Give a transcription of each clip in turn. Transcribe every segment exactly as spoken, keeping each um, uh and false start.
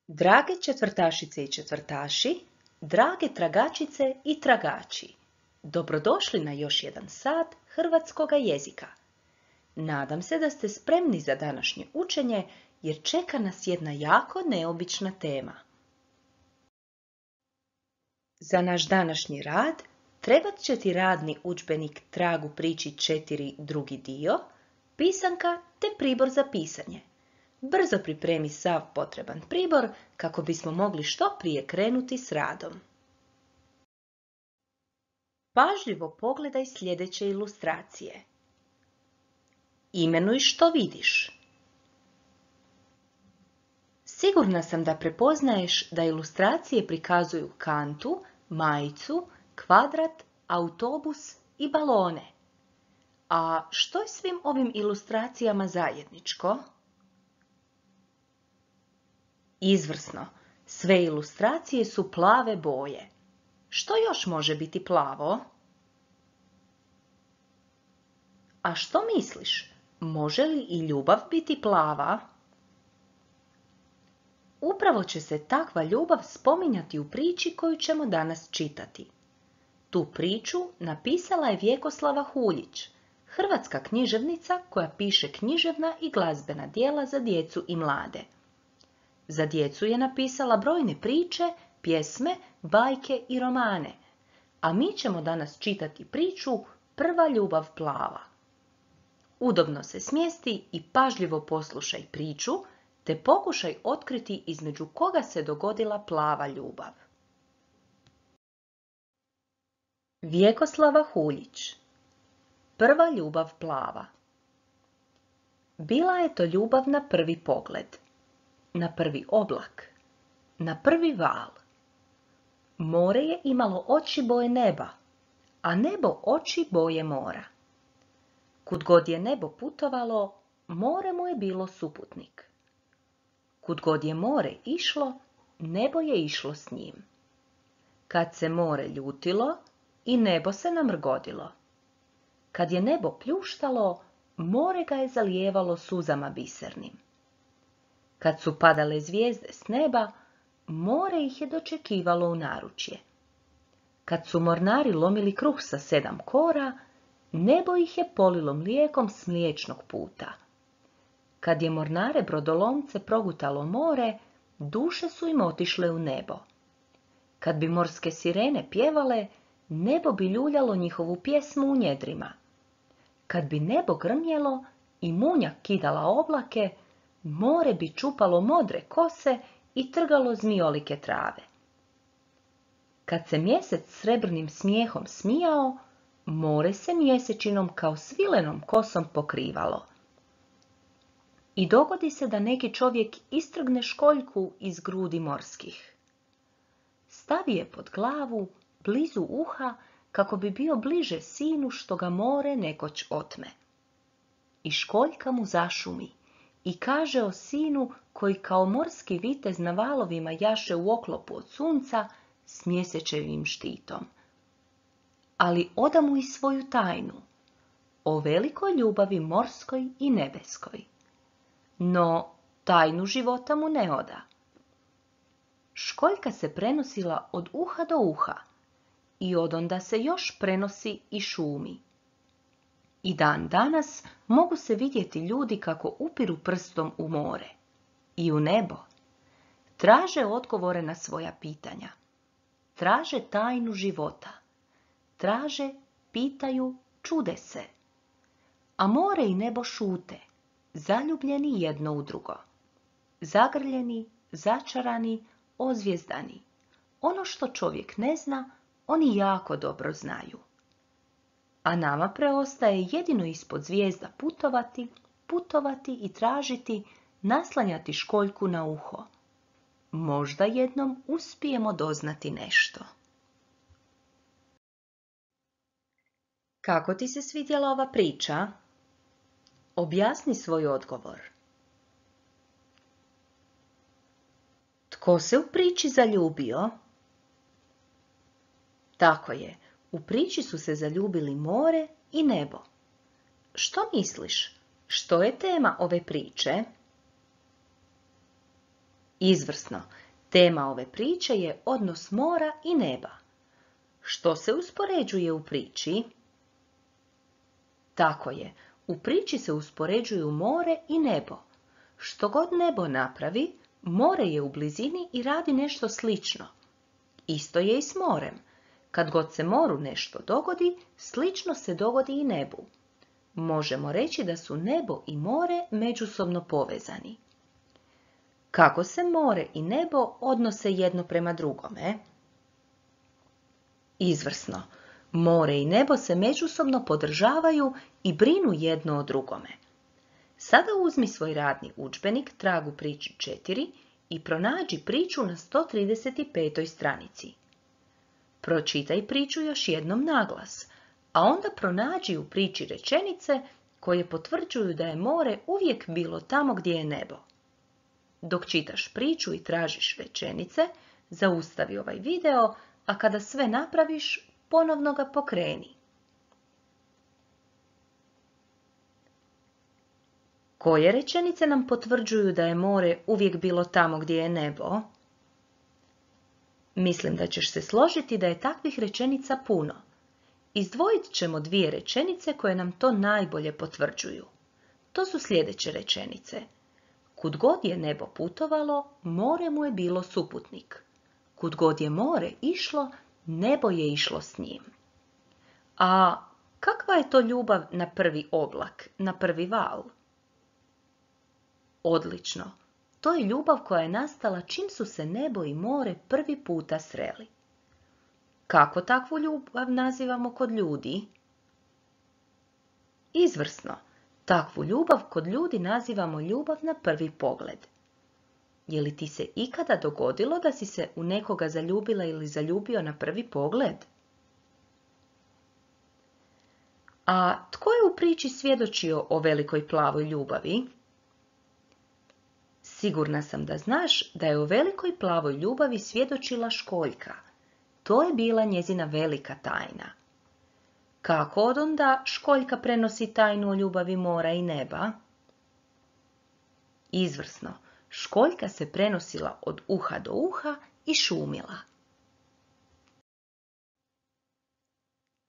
Drage četvrtašice i četvrtaši, drage tragačice i tragači, dobrodošli na još jedan sat hrvatskoga jezika. Nadam se da ste spremni za današnje učenje jer čeka nas jedna jako neobična tema. Za naš današnji rad trebat će ti radni udžbenik Tragu priči četiri drugi dio, pisanka te pribor za pisanje. Brzo pripremi sav potreban pribor kako bismo mogli što prije krenuti s radom. Pažljivo pogledaj sljedeće ilustracije. Imenuj što vidiš. Sigurna sam da prepoznaješ da ilustracije prikazuju kantu, majicu, kvadrat, autobus i balone. A što je svim ovim ilustracijama zajedničko? Izvrsno, sve ilustracije su plave boje. Što još može biti plavo? A što misliš, može li i ljubav biti plava? Upravo će se takva ljubav spominjati u priči koju ćemo danas čitati. Tu priču napisala je Vjekoslava Huljić, hrvatska književnica koja piše književna i glazbena djela za djecu i mlade. Za djecu je napisala brojne priče, pjesme, bajke i romane, a mi ćemo danas čitati priču Prva ljubav plava. Udobno se smjesti i pažljivo poslušaj priču, te pokušaj otkriti između koga se dogodila plava ljubav. Vjekoslava Huljić. Prva ljubav plava. Bila je to ljubav na prvi pogled, na prvi oblak, na prvi val. More je imalo oči boje neba, a nebo oči boje mora. Kud god je nebo putovalo, more mu je bilo suputnik. Kud god je more išlo, nebo je išlo s njim. Kad se more ljutilo, i nebo se namrgodilo. Kad je nebo pljuštalo, more ga je zalijevalo suzama bisernim. Kad su padale zvijezde s neba, more ih je dočekivalo u naručje. Kad su mornari lomili kruh sa sedam kora, nebo ih je polilo mlijekom s mliječnog puta. Kad je mornare brodolomce progutalo more, duše su im otišle u nebo. Kad bi morske sirene pjevale, nebo bi ljuljalo njihovu pjesmu u njedrima. Kad bi nebo grmjelo i munja kidala oblake, more bi čupalo modre kose i trgalo zmijolike trave. Kad se mjesec srebrnim smijehom smijao, more se mjesečinom kao svilenom kosom pokrivalo. I dogodi se da neki čovjek istrgne školjku iz grudi morskih. Stavi je pod glavu, blizu uha, kako bi bio bliže sinu što ga more nekoć otme. I školjka mu zašumi i kaže o sinu koji kao morski vitez na valovima jaše u oklopu od sunca s mjesečevim štitom. Ali oda mu i svoju tajnu, o velikoj ljubavi morskoj i nebeskoj. No, tajnu života mu ne oda. Školjka se prenosila od uha do uha i odonda se još prenosi i šumi. I dan danas mogu se vidjeti ljudi kako upiru prstom u more i u nebo. Traže odgovore na svoja pitanja. Traže tajnu života. Traže, pitaju, čude se. A more i nebo šute, zaljubljeni jedno u drugo. Zagrljeni, začarani, ozvjezdani. Ono što čovjek ne zna, oni jako dobro znaju. A nama preostaje jedino ispod zvijezda putovati, putovati i tražiti, naslanjati školjku na uho. Možda jednom uspijemo doznati nešto. Kako ti se svidjela ova priča? Objasni svoj odgovor. Tko se u priči zaljubio? Tako je. U priči su se zaljubili more i nebo. Što misliš? Što je tema ove priče? Izvrsno. Tema ove priče je odnos mora i neba. Što se uspoređuje u priči? Tako je, u priči se uspoređuju more i nebo. Što god nebo napravi, more je u blizini i radi nešto slično. Isto je i s morem. Kad god se moru nešto dogodi, slično se dogodi i nebu. Možemo reći da su nebo i more međusobno povezani. Kako se more i nebo odnose jedno prema drugome? Izvrsno. More i nebo se međusobno podržavaju i brinu jedno o drugome. Sada uzmi svoj radni udžbenik, trag u priči četiri i pronađi priču na sto trideset petoj stranici. Pročitaj priču još jednom naglas, a onda pronađi u priči rečenice koje potvrđuju da je more uvijek bilo tamo gdje je nebo. Dok čitaš priču i tražiš rečenice, zaustavi ovaj video, a kada sve napraviš, ponovno ga pokreni. Koje rečenice nam potvrđuju da je more uvijek bilo tamo gdje je nebo? Mislim da ćeš se složiti da je takvih rečenica puno. Izdvojit ćemo dvije rečenice koje nam to najbolje potvrđuju. To su sljedeće rečenice. Kud god je nebo putovalo, more mu je bilo suputnik. Kud god je more išlo, nebo je išlo s njim. A kakva je to ljubav na prvi oblak, na prvi val? Odlično. To je ljubav koja je nastala čim su se nebo i more prvi puta sreli. Kako takvu ljubav nazivamo kod ljudi? Izvrsno. Takvu ljubav kod ljudi nazivamo ljubav na prvi pogled. Je li ti se ikada dogodilo da si se u nekoga zaljubila ili zaljubio na prvi pogled? A tko je u priči svjedočio o velikoj plavoj ljubavi? Sigurna sam da znaš da je o velikoj plavoj ljubavi svjedočila Školjka. To je bila njezina velika tajna. Kako odonda Školjka prenosi tajnu o ljubavi mora i neba? Izvrsno. Školjka se prenosila od uha do uha i šumila.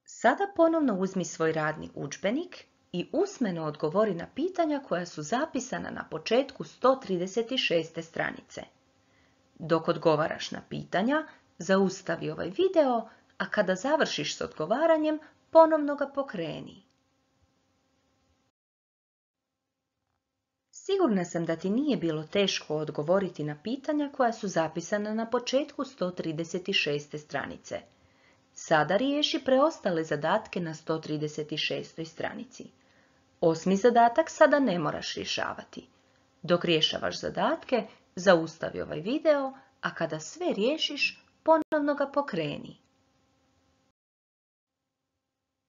Sada ponovno uzmi svoj radni udžbenik i usmeno odgovori na pitanja koja su zapisana na početku sto trideset šeste stranice. Dok odgovaraš na pitanja, zaustavi ovaj video, a kada završiš s odgovaranjem, ponovno ga pokreni. Sigurna sam da ti nije bilo teško odgovoriti na pitanja koja su zapisana na početku sto trideset šeste stranice. Sada riješi preostale zadatke na sto trideset šestoj stranici. Osmi zadatak sada ne moraš rješavati. Dok rješavaš zadatke, zaustavi ovaj video, a kada sve riješiš, ponovno ga pokreni.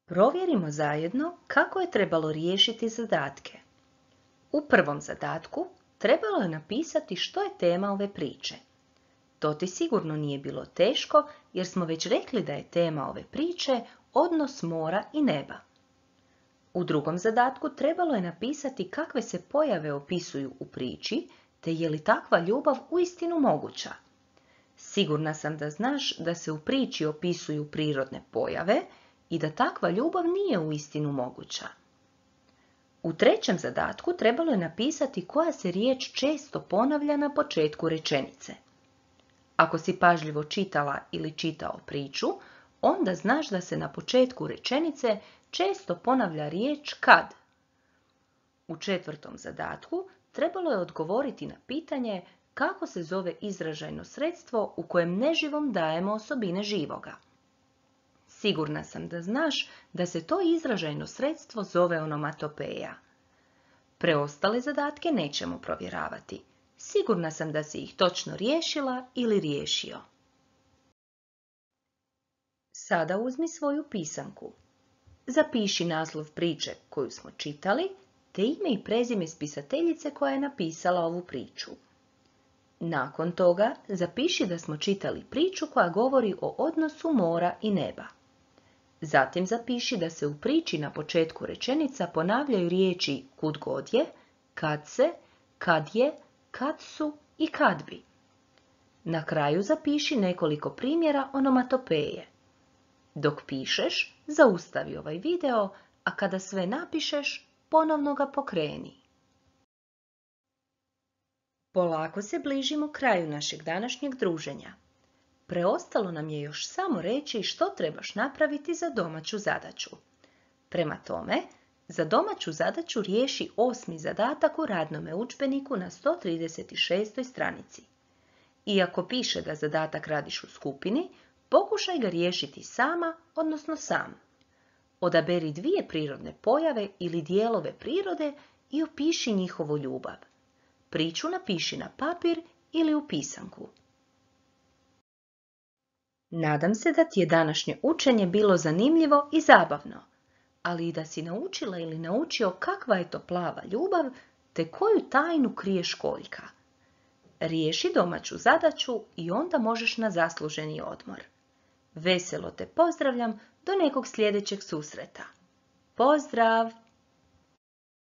Provjerimo zajedno kako je trebalo riješiti zadatke. U prvom zadatku trebalo je napisati što je tema ove priče. To ti sigurno nije bilo teško jer smo već rekli da je tema ove priče odnos mora i neba. U drugom zadatku trebalo je napisati kakve se pojave opisuju u priči te je li takva ljubav uistinu moguća. Sigurna sam da znaš da se u priči opisuju prirodne pojave i da takva ljubav nije uistinu moguća. U trećem zadatku trebalo je napisati koja se riječ često ponavlja na početku rečenice. Ako si pažljivo čitala ili čitao priču, onda znaš da se na početku rečenice često ponavlja riječ kad. U četvrtom zadatku trebalo je odgovoriti na pitanje kako se zove izražajno sredstvo u kojem neživom dajemo osobine živoga. Sigurna sam da znaš da se to izražajno sredstvo zove onomatopeja. Preostale zadatke nećemo provjeravati. Sigurna sam da si ih točno riješila ili riješio. Sada uzmi svoju pisanku. Zapiši naslov priče koju smo čitali, te ime i prezime spisateljice koja je napisala ovu priču. Nakon toga zapiši da smo čitali priču koja govori o odnosu mora i neba. Zatim zapiši da se u priči na početku rečenica ponavljaju riječi kud god je, kad se, kad je, kad su i kad bi. Na kraju zapiši nekoliko primjera onomatopeje. Dok pišeš, zaustavi ovaj video, a kada sve napišeš, ponovno ga pokreni. Polako se bližimo kraju našeg današnjeg druženja. Preostalo nam je još samo reći što trebaš napraviti za domaću zadaću. Prema tome, za domaću zadaću riješi osmi zadatak u radnome udžbeniku na sto trideset šestoj stranici. Iako piše da zadatak radiš u skupini, pokušaj ga riješiti sama, odnosno sam. Odaberi dvije prirodne pojave ili dijelove prirode i opiši njihovu ljubav. Priču napiši na papir ili u pisanku. Nadam se da ti je današnje učenje bilo zanimljivo i zabavno, ali i da si naučila ili naučio kakva je to plava ljubav, te koju tajnu krije školjka. Riješi domaću zadaću i onda možeš na zasluženi odmor. Veselo te pozdravljam do nekog sljedećeg susreta. Pozdrav!